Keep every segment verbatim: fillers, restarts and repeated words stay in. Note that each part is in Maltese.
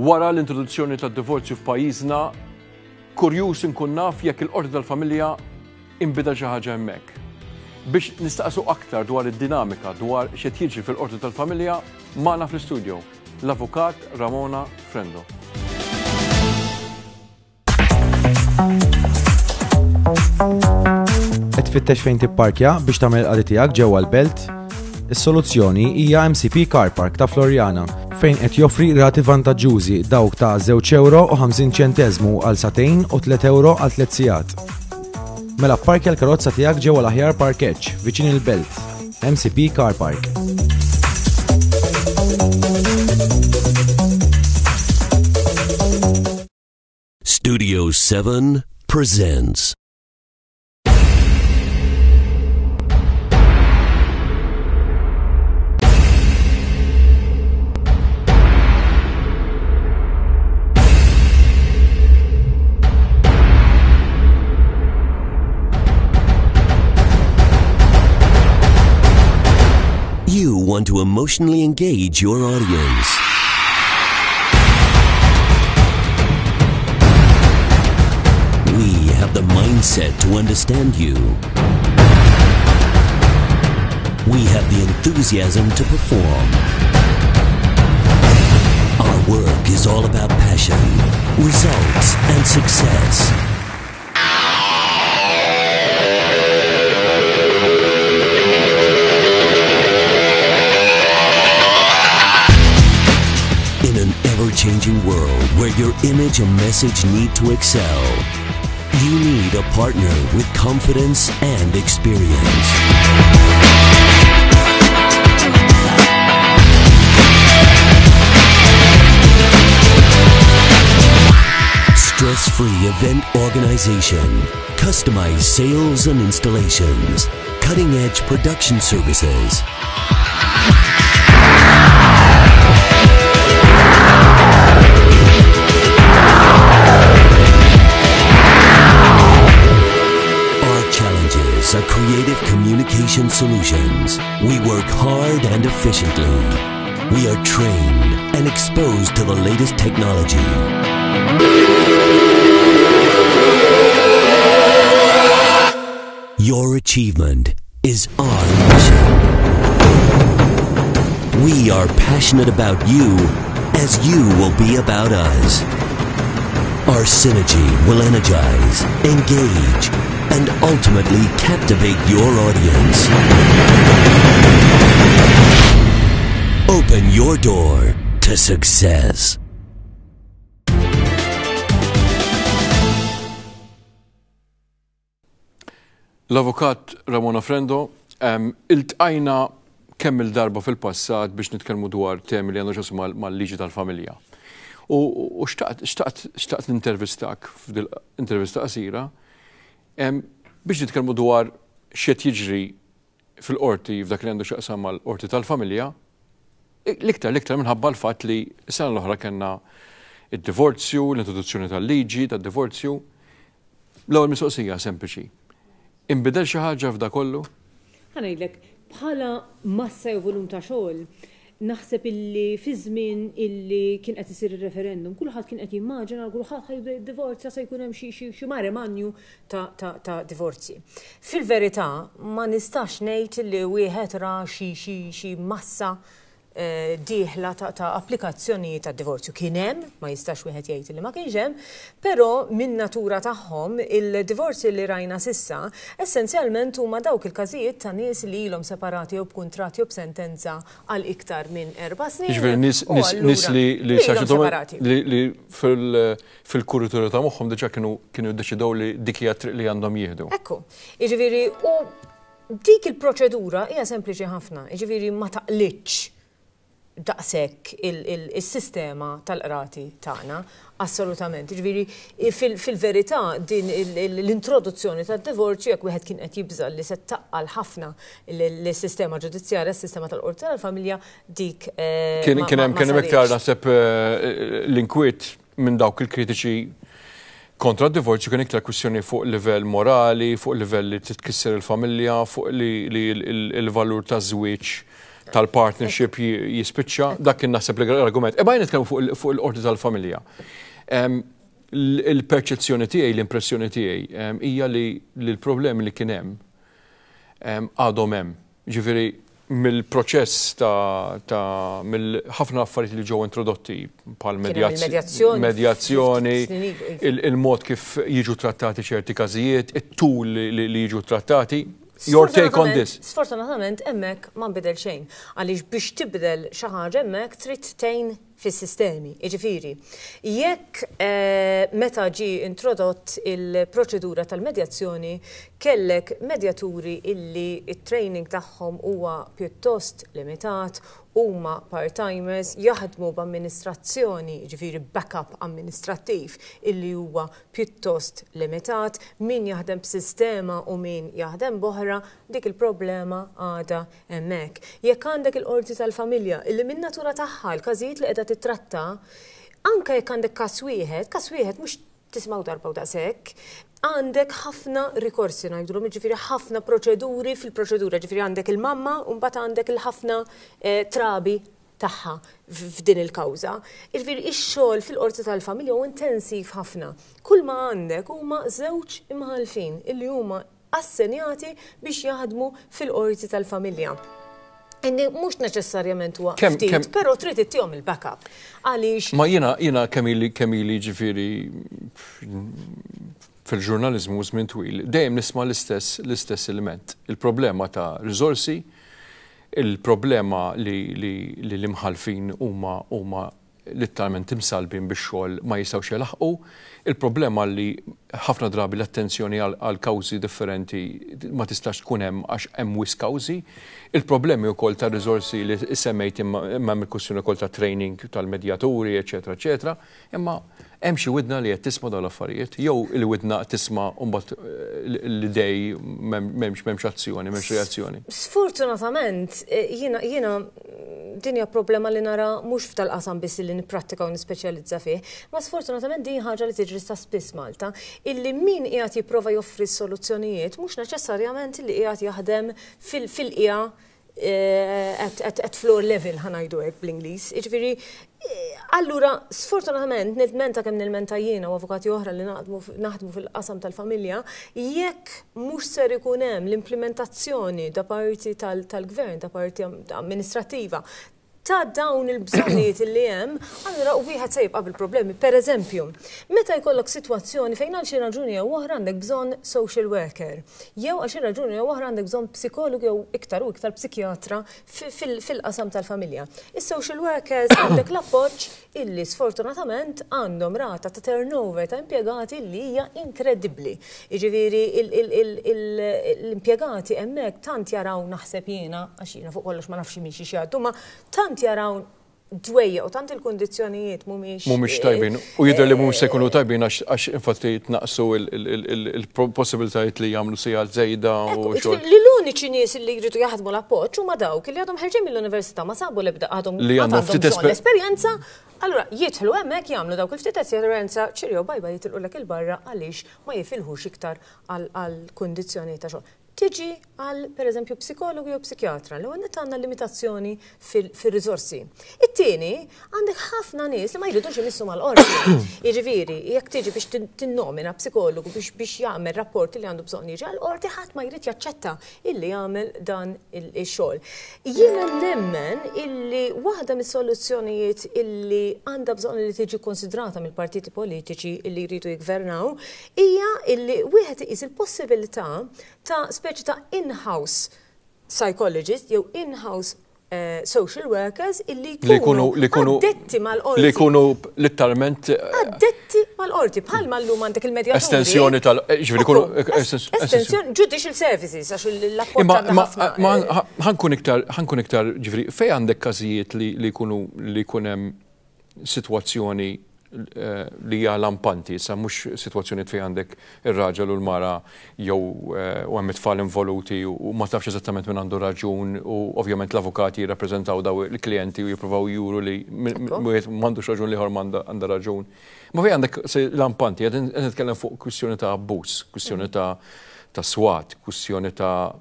Wara l-introduzzjoni tad-divorzju f'pajjiżna, kurjuż inkun naf jekk il-qorti tal-familja inbidel xi ħaġa hemmhekk. Biex nistaqsu aktar dwar id-dinamika dwar x'qed jiġri fil-qorti tal-familja, magħna fl-istudio l-Avukat Ramona Frendo. Qed tfittex fejn tipparkja biex tagħmel il-qadi tiegħek ġewwa l-belt? Is-soluzzjoni hija M C P Car Park ta' Floriana, fejn qed joffri rati vantaġġużi, dawk ta' żewġ euro u ħamsin ċenteżmu għal sagħtejn u tliet euro għal tliet sigħat. Mela parkja l-karozza tiegħek ġewwa l-aħjar parkeġġ viċin il-belt. M C P Car Park. Studio seven presents. You want to emotionally engage your audience. We have the mindset to understand you. We have the enthusiasm to perform. Our work is all about passion, results, and success. In an ever-changing world where your image and message need to excel, you need a partner with confidence and experience. Stress-free event organization, customized sales and installations, cutting-edge production services. Our challenges are creative communication solutions. We work hard and efficiently. We are trained and exposed to the latest technology. Your achievement is our mission. We are passionate about you as you will be about us. Our synergy will energize, engage, and ultimately captivate your audience. Open your door to success. L-Avukat Ramona Frendo, em, iltqajna kemm il-darba fil-passat biex nitkellmu dwar temi li għandu x'jaqsmu mal-liġi tal-familja. U u xtaqt xtaqt xtaqt nintervistak f'dil intervista qasira em, biex nitkellmu dwar x'qed jiġri fil-qorti f'dak li għandu x'jaqsam mal-qorti tal-familja, l-iktar l-iktar minħabba l-fatt li s-sena l-oħra kellna id-divorzju, l-introduzzjoni tal-liġi tad-divorzju. L-ewwel mistoqsija sempliċi. Inbidel xi ħaġa f'da kollu? Ħa ngħidlek, bħala massa jew volum ta' xogħol, naħseb illi fi żmien illi kien qed isir ir-referendum, kulħadd kien qed jimmaġina kulħadd ħa jibda jiddivorzja, se jkun hemm xi xi xi mare magnum ta' ta' ta' divorzji. Fil-verità ma nistax ngħid li wieħed ra xi xi xi massa eh, dieħla ta', ta' applikazzjonijiet ta' divorzju. Kien hemm, ma jistax wieħed jgħid li ma kienx hemm, però min natura tagħhom il-divorzji li rajna s'issa essenzjalment huma dawk il-każijiet ta' nies li ilhom separati jew b'kuntratt jew b'sentenza għal iktar minn erba' snin. Jiġifieri nies u nies nies li li ilhom separati. li li fil fil-kuritura ta' moħħhom diġà kienu kienu ddeċidew li dik hija triq li għandhom jieħdu. Ekku, jiġifieri u dik il-proċedura hija sempliċi ħafna, jiġifieri ma taqlitx daqshekk il-sistema tal-qrati tagħna, assolutament. Jiġifieri fil-verità din l-introduzzjoni tad-divorzju, jekk wieħed kien qed jibża li se taqqal ħafna l-sistema ġudizzjarja, s-sistema tal-qorti tal-familja, dik eh, Kien kien hemm kien hemm iktar, naħseb, eh, l-inkwiet minn dawk il-kritiċi kontra d-divorzju kien iktar kwistjoni fuq livell morali, fuq livell li titkisser il-familja, fuq li il-valur ta' żwieġ tal-partnership jispiċċa, dak kien naħseb l-argument. Imma jien nitkellmu fuq il-qorti tal-familja. Il-perċezzjoni tiegħi, l-impressjoni tiegħi hija li l-problemi li kien hemm għadhom hemm. Ġifieri mill-proċess ta', ta mill-ħafna affarijiet li ġew introdotti bħal medjazzjoni, il-mod kif jiġu trattati ċerti każijiet, it-tul li jiġu trattati. Your take on this? Sfortunatament hemmhekk ma nbidel xejn. Għaliex biex tibdel xi ħaġa hemmhekk trid tgħin fis-sistemi. Jiġifieri, jekk meta ġie introdott il-proċedura tal-medjazzjoni kellek medjaturi illi it-training tagħhom huwa pjuttost limitat, huma part-timers, jaħdmu b'amministrazzjoni, ġifieri backup amministrattiv illi huwa pjuttost limitat, min jaħdem b'sistema u min jaħdem b'oħra, dik il-problema għadha hemmhekk. Jekk għandek il-qorti tal-familja illi min natura tagħha l-każijiet li qiegħda titratta, anke jekk għandek każ wieħed, każ wieħed mhux tismgħu darba u daqshekk, għandek ħafna rikorsi ngħidulhom, ġifieri ħafna proċeduri fil-proċedura, ġifieri għandek il-mamma u mbagħad għandek il-ħafna trabi tagħha f'din il-kawża. Ġifieri ix-xogħol fil-qorti tal-familja huwa intensiv ħafna. Kull ma għandek huma żewġ imħallfin illi huma assenjati biex jaħdmu fil-qorti tal-familja. Inni mhux neċessarjament huwa ftit, però trid ittihom il-backup. Għaliex Ma jiena jiena kemm ili kemm ili ġifieri fil-ġurnaliżmu żmien twil, dejjem nisma' l-istess l-istess element. Il-problema ta' riżorsi, il-problema li li l-imħallfin huma huma letteralment imsalbin bix-xogħol ma jistgħux jelaħqu, il-problema li ħafna drabi l-attenzjoni għal kawżi differenti ma tistax tkun hemm għax hemm wisq kawżi, il-problemi wkoll ta' riżorsi li semmejt imma hemm il-kwistjoni wkoll ta' training tal-medjaturi, eċetera, eċetera, imma hemm xi widna li qed tisma' dawn l-affarijiet, jew il-widna tisma' u mbagħad l-idej m'hemmx m'hemmx azzjoni, m'hemmx reazzjoni. Sfortunatament, jiena jiena din hija problema li nara mhux f'tal-qasam biss li nipprattika u nispeċjalizza fih, ma sfortunatament din ħaġa li tiġri ta' spiss Malta, illi min qiegħed jipprova joffri soluzzjonijiet mhux neċessarjament li qiegħed jaħdem fil-qiegħa at floor level ħa ngħidu hekk bl-Ingliż. Jiġifieri, allura sfortunatament nilmenta kemm nilmenta jiena u avukati oħra li naħdmu fil-qasam tal-familja, jekk mhux ser ikun hemm l-implementazzjoni da parti tal-gvern, da parti amministrattiva, ta' dawn il-bżonnijiet li hemm, allura wieħed se jibqa' bil-problemi. Per eżempju, meta jkollok sitwazzjoni fejn għal xi raġuni jew oħra għandek bżonn social worker, jew għal xi raġuni jew oħra għandek bżonn psikologu jew iktar u iktar psikjatra fil-qasam tal-familja. Is-social workers għandek l-appoġġ illi sfortunatament għandhom rata ta' turnover ta' impjegati li hija inkredibbli. Jiġifieri l-impjegati hemmhekk tant jaraw naħseb jiena, għax jiena fuq kollox ma nafx minn xi jgħaddu, ma tant jaraw dwejja u tant il-kundizzjonijiet mhumiex mhumiex tajbin u jidher li mhumiex se jkunu tajbin għax infatti tnaqsu il-possibilitajiet li jagħmlu sigħat żejda u xogħol. Li l-uniċi nies li jridu jaħdmu l-appoġġ huma dawk li għadhom ħerġin mill-università ma sabu l-ebda għadhom li għandhom ftit esperjenza, allura jidħlu hemmhekk jagħmlu dawk il-ftit esperjenza, cheerio bye bye jitilqulek il-barra għaliex ma jifilħux iktar għal kundizzjonijiet ta' xogħol. Tiġi għal, per eżempju, psikologu jew psikjatra, li għandna għandna limitazzjoni fil-riżorsi. It-tieni, għandek ħafna nies li ma jridux imissu mal-qorti. Jiġifieri, jekk tiġi biex tinnomina psikologu biex biex jagħmel rapporti li għandu bżonn jiġi għall-qorti, ħadd ma jrid jaċċetta illi jagħmel dan ix-xogħol. Jiena nemmen illi waħda mis-soluzzjonijiet illi għandha bżonn li tiġi konsidrata mill-partiti politiċi illi jridu jiggvernaw hija illi wieħed iqis il-possibilità ta' speċi ta' in-house psychologist jew in-house uh, social workers illi jkunu addetti mal-qorti. Li jkunu letteralment addetti mal-qorti, bħalma llum għandek il-medjaturi. Estensjoni tal- ġifieri jkunu estensjoni judicial services għax l-appoġġ Ma ħa nkun iktar ħa nkun iktar ġifieri fejn għandek każijiet li jkunu li jkun hemm sitwazzjoni li hija lampanti, sa mhux sitwazzjoni fejn għandek ir-raġel u l-mara jew u hemm it-tfal involuti u ma tafx eżattament min għandu raġun u ovvjament l-avukati jirrappreżentaw daw il-klijenti u jippruvaw juru li wieħed m'għandux raġun l-ieħor għandha raġun. Ma fejn għandek lampanti, qed nitkellem fuq kwistjoni ta' abbuż, kwistjoni ta' ta' swat, kwistjoni ta'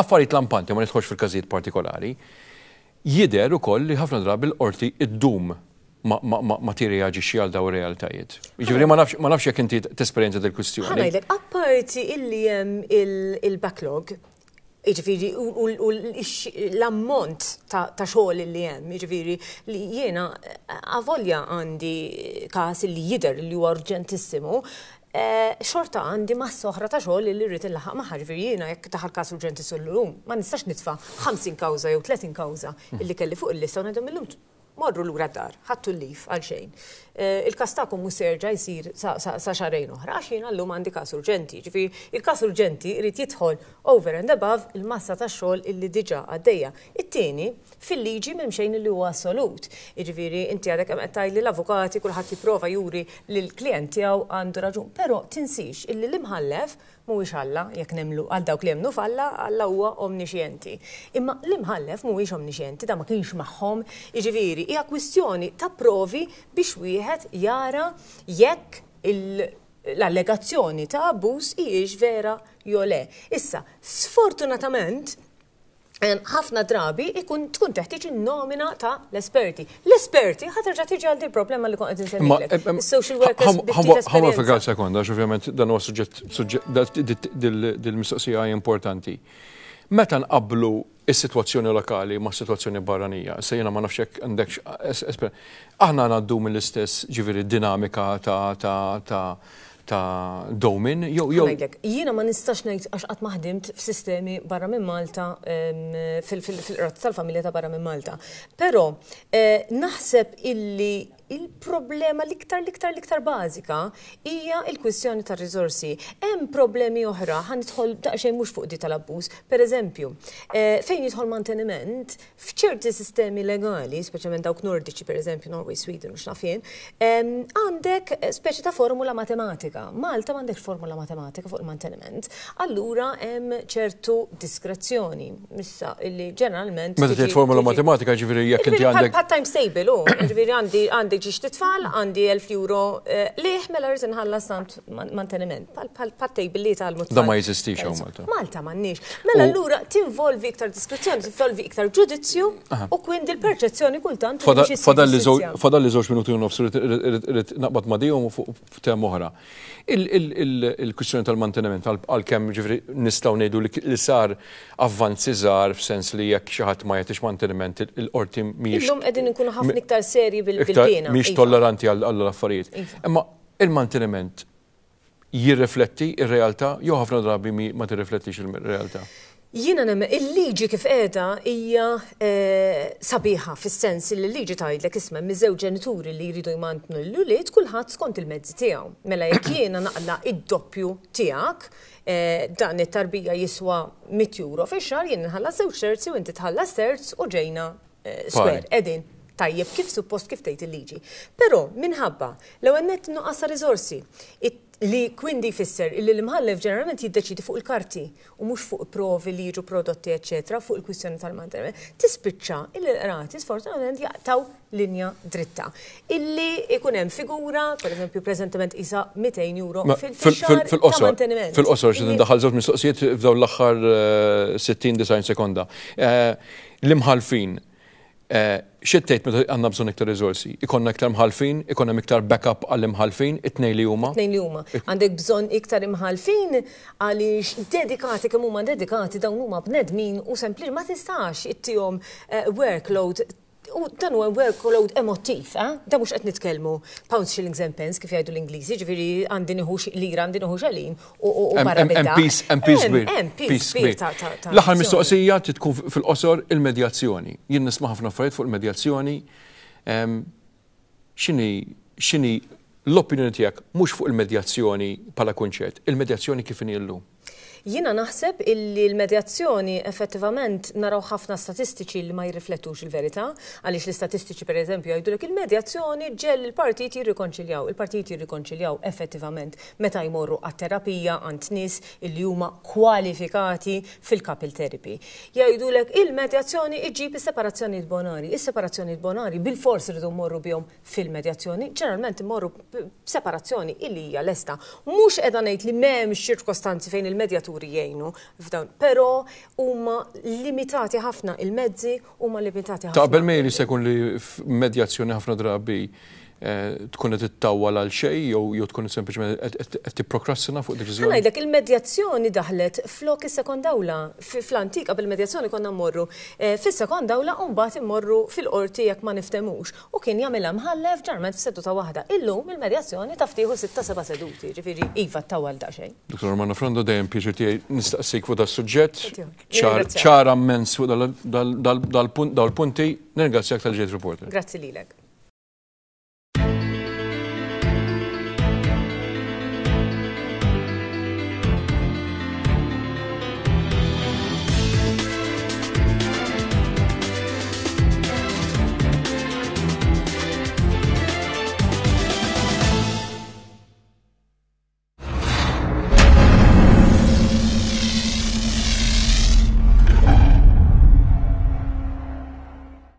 affarijiet lampanti, ma nidħolx fil-każijiet partikolari. Jidher ukoll li ħafna drabi l-qorti iddum ma, ma, ma, ma tirreaġixxi għal daw ir-realtajiet. Jiġifieri ma nafx ma nafx jekk inti tesperjenza dil-kwistjoni. Ħa ngħidlek, apparti illi hemm il-backlog, jiġifieri u l-ammont ta' xogħol li hemm, jiġifieri li jiena avolja għandi każ li jidher li huwa urġentissimu, eh, xorta għandi massa oħra ta' xogħol li rrid inlaħħaq magħha. Ġifieri jiena jekk daħal każ urġenti llum, ma nistax nitfa' ħamsin kawża jew tletin kawża illi kelli fuq il-lista u ngħidhom illum morru lura d-dar, ħadtu l-leave għal xejn. Eh, il-każ tagħkom mhux se jerġa' jsir sa xahrejn oħra, għax jiena llum għandi każ urġenti. Ġifieri il-każ urġenti jrid jidħol over and above il-massa ta' xogħol illi diġà għaddejja. It-tieni, fil-liġi m'hemm xejn li huwa assolut. Jiġifieri inti għadek hemm qed tgħidli l-avukati, kulħadd jipprova juri li l-klient tiegħu għandu raġun, però tinsix illi l-imħallef mhuwiex Alla. Jekk nemmnu, għal dawk li jemmnu f'Alla, Alla huwa omnixjenti. Imma l-imħallef mhuwiex omnixjenti, da ma kienx magħhom, jiġifieri hija kwistjoni ta' provi biex wieħed jara jekk l-allegazzjoni ta' abbuż hijiex vera jew le. Issa, sfortunatament, ħafna drabi ikun tkun teħtieġ in-nomina ta' l-esperti. L-esperti ħa terġa' tiġi għal problema li kont qed insemmilek. Is-social workers. Ħa nieqaf sekonda, għax ovvjament dan huwa suġġett, dil-mistoqsija importanti. Meta nqablu is-sitwazzjoni lokali ma' sitwazzjoni barranija, se jiena ma nafx jekk għandek, aħna ngħaddu mill-istess, ġifieri, dinamika ta' ta' ta' ta' dewmien, jew jew. Jiena ma nistax ngħid għax qatt ma ħdimt f'sistemi barra minn Malta, fil-qrati tal-familja ta' barra minn Malta. Però eh, naħseb illi il-problema l-iktar l-iktar l-iktar bażika hija il-kwistjoni tar riżorsi. Hemm problemi oħra, ħa nidħol daqsxejn mhux fuq di tal-abbuż. Per eżempju, eh, fejn jidħol manteniment, f'ċerti sistemi legali, speċjalment dawk nordiċi, per eżempju Norway, Sweden u x'naf jien, għandek speċi ta' formula matematika. Malta m'għandekx formula matematika fuq il-manteniment. Allura hemm ċertu diskrezzjoni. Issa illi ġeneralment Meta tgħid formula matematika, ġifieri jekk inti għandek Bħal times table, u ġifieri għandi għandi ġiex tfal, għandi elf euro eh, liħ, mela rrid inħallas tant manteniment. Bħal table li tal Da ma jeżistix hawn Malta. Malta m'għandniex. Mela allura tinvolvi iktar diskrezzjoni, tinvolvi iktar ġudizzju u kwindi l-perċezzjoni kultant. Fadal li żewġ minuti u nofs, irrid naqbad ma' dihom fuq tema oħra. Il-kwistjoni tal-manteniment, għalkemm, ġifieri, nistgħu ngħidu li sar avvanzi żgħar f'sens li jekk xi ħadd ma jagħtix manteniment, il-qorti mhijiex. Illum qegħdin inkunu ħafna iktar serji bil-pena. Mhijiex tolleranti għall-affarijiet. Iva. Imma il-manteniment jirrifletti ir-realtà jew ħafna drabi ma tirriflettix il-realtà? Jiena nemmen il-liġi kif qiegħda hija eh, sabiħa fis-sens li l-liġi tgħidlek, isma', miż-żewġ ġenituri li jridu jmantnu l-ulied, kulħadd skont il-mezzi tiegħu. Mela jekk jiena naqla id-doppju tiegħek, eh, dan it-tarbija jiswa mitt euro fix-xahar, jien nħallas żewġ terzi u inti tħallas terz u ġejna eh, square. Qegħdin tajjeb kif suppost, kif tgħid il-liġi. Però minħabba l-ewwel nett nuqqas riżorsi, li kwindi jfisser illi l-imħallef ġeneralment jiddeċidi fuq il-karti u mhux fuq provi li jiġu prodotti, eċetera, fuq il-kwistjoni tal-manteniment, tispiċċa illi l-qrati sfortunatament jaqtaw linja dritta. Illi ikun hemm figura, per eżempju, preżentement isa mitejn euro fil-xahar ta' manteniment. Fil-qosor, xi ndaħal żewġ mistoqsijiet f'dawn l-aħħar sittin disgħin sekonda. Eh, l-imħalfin, eh, xi tgħid meta għandna bżonn iktar riżorsi? Ikollna iktar mħalfin, ikollna iktar backup għall-imħalfin, it-tnejn li huma? Tnejn li huma. Għandek bżonn iktar imħalfin għaliex dedikati kemm huma dedikati, dawn huma bnedmin u sempli ma tistax ittihom eh, workload, u dan huwa workload emotiv, eh? Da mhux qed nitkellmu pounds, shillings and pence kif jgħidu l-Ingliżi, ġifieri għandi nieħu lira, għandi nieħu xelin u barra. Hemm piż, hemm piż kbir. Hemm piż kbir ta' L-aħħar mistoqsija tkun fil-qosor, il-medjazzjoni. Jien nisma' ħafna affarijiet fuq il-medjazzjoni. X'inhi x'inhi l-opinjoni tiegħek mhux fuq il-medjazzjoni bħala kunċett, il-medjazzjoni kif inhi llum? Jiena naħseb illi l-medjazzjoni effettivament naraw ħafna statistiċi li ma jirriflettux il-verità, għaliex l-istatistiċi, per eżempju, jgħidulek il-medjazzjoni ġġiegħel il-partiti jirrikonċiljaw. Il-partiti jirrikonċiljaw effettivament meta jmorru għat-terapija għand nies illi huma kwalifikati fil-couple therapy. Jgħidulek il-medjazzjoni iġġib is-separazzjoni bonari. Is-separazzjoni bonari bil-fors rridu mmorru bihom fil-medjazzjoni, ġeneralment imorru separazzjoni illi hija lesta. Mhux qiegħda ngħid li m'hemmx ċirkostanzi fejn Il-medjaturi jgħinu f'dawn, però huma limitati ħafna il-mezzi, huma limitati ħafna. Taqbel miegħi li se jkun li f'medjazzjoni ħafna drabi eh, tkun qed ittawwal għal xejn jew jew tkun sempliċement qed tipprokrastina fuq deċiżjoni? Ngħidlek, il-medjazzjoni daħlet flok is-sekond awla. Fl-antik qabel il-medjazzjoni konna mmorru eh, fis-sekond awla u mbagħad immorru fil-qorti jekk ma niftemux. U kien jagħmilha mħallef ġarment f'seduta waħda. Illum il-medjazzjoni taf tieħu sitta seba' seduti, ġifieri iva, ttawwal daqsxejn. Dottor Romano Frendo, dejjem pjaċir tiegħi nistaqsik fuq das-suġġett. Nirringrazzjak. Ċara immens fuq dal-punti. Nirringrazzjak talli ġejt Reporter. Grazzi lilek.